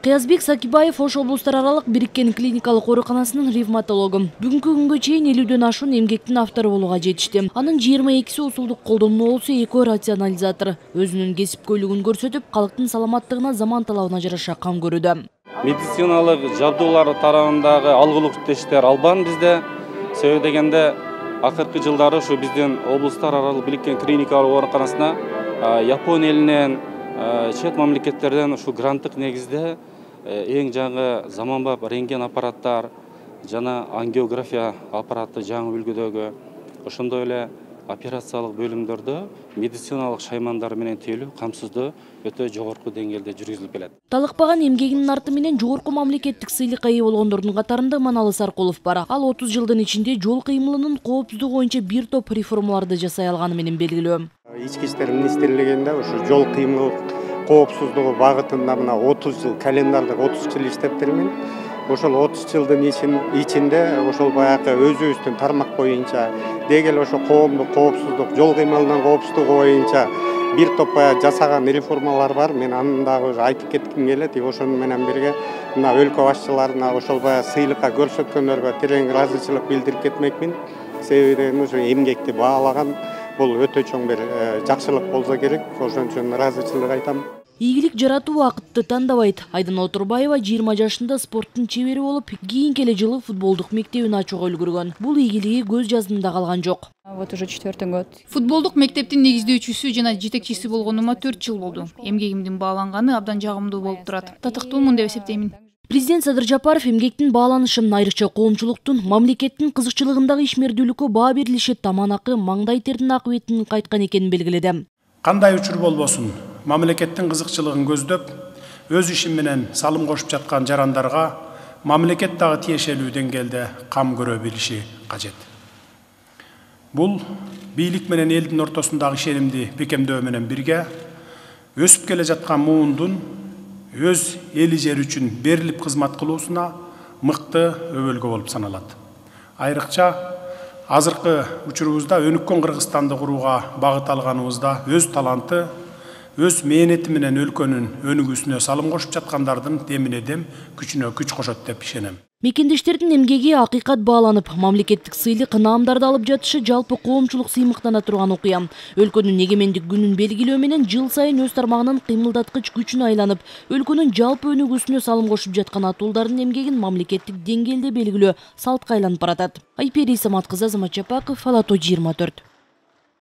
Кыязбек Сакибаев Ош облустар аралык бириккен клиникалык ооруканасынын ревматологу. Бүгүнкү күнгө чейин 50дөн ашуун эмгектин автору болууга жетишти. Анын 22си усулдук колдонмо болсо, 2 рационализатор. Өзүнүн кесипкөйлүгүн көрсөтүп, калктын саламаттыгына заман талабына жараша кам көрүүдө. Медициналык жабдуулар тарабындагы алгылык иштештер албан бизде. Себеби дегенде акыркы жылдары ушу биздин облустар аралык бириккен клиникалык ооруканасына Япония элинен, чет мамлекеттерден ушу гранттык негизде эң жаңы заманбап рентген аппараттар жана ангиография аппараты жаңы үлгүдөгү, ошондой эле операциялык бөлүмдөрдө медициналык шаймандар менен тейлөө камсыздоо өтө жогорку деңгээлде жүргүзүлүп келет. Талыкпаган эмгегинин арты менен жогорку мамлекеттик сыйлыкка ээ болгондордун катарында Маналы Саркулов бар. Ал 30 жылдын ичинде жол кыймылынын коопсуздугу боюнча бир топ реформаларды жасай алганы менен белгилүү. Ички иштер министрлигинде ушу жол кыймыл коопсуздугу багытында мына 30 жыл календардык 30 жыл иштептирмин. Ошол 30 жылдын ичинде ошол баягы өзүбүздүн тармак боюнча дегел ошо коомдук коопсуздук, жол кыймылынын коопсуздугу боюнча бир топ жасаган реформалар бар. Мен аны дагы айтып кетким келет. Ошону менен бирге мына өлкө башчыларына ошол баягы сыйлыкка көрсөткөндөргө терең ыраазычылык билдирип кетмекмин. Себеби ушу эмгекти баалаган бул өтө чоң бир жакшылык болсо керек. Ошон үчүн ыраазычылык айтам. Ийгилик жаратуу убакытты тандабайт. Айдана Отурбаева 20 жашында спорттун чебери болуп, кийинки эле жылы футболдук мектебин ачууга үлгүргөн. Бул ийгилиги көз жаздымда калган жок. Вот уже 4-й год. Футболдук мектептин негиздөөчүсү жана жетекчиси болгонума 4 жыл болду. Эмгегимдин бааланганы абдан жагымдуу болуп турат. Татыктуумун деп эсептеймин. Президент Садыр Жапаров эмгектин бааланышын, айрыкча коомчулуктун, мамлекеттин кызыкчылыгындагы ишмердүүлүккө баа берилиши таман акы, маңдай тердин акыбетинин кайткан экенин белгиледи. Кандай учур болбосун, мамлекеттин кызыкчылыгын көздөп, өз иши менен салым кошуп жаткан жарандарга мамлекет дагы тиешелүү деңгээлде кам көрө билиши кажет. Бул бийлик менен элдин ортосундагы ишенимди бекемдөө менен бирге өсүп келе жаткан муундун өз эли жери үчүн берилип кызмат кылуусуна мыкты өбөлгө болуп саналат. Айрыкча азыркы учурубузда өнүккөн Кыргызстанды курууга багыт алганыбызда өз таланты, өз мээнети менен өлкөнүн өнүгүүсүнө салым кошуп жаткандардын демине дем, күчүнө күч кошот деп ишенем. Мекендештердин эмгеги акыйкат бааланып, мамлекеттик сыйлык наамдарды алып жатышы жалпы коомчулук сыймыктана турган окуя. Өлкөнүн эгемендик күнүн белгилөө менен жыл сайын өз тармагынын кыймылдаткыч күчүнө айланып, өлкөнүн жалпы өнүгүүсүнө салым кошуп жаткан атуулдардын эмгегин мамлекеттик деңгээлде белгилөө салтка айланып баратат. Айпери Самат кызы, Азамат Жапаков, Ала Тоо 24.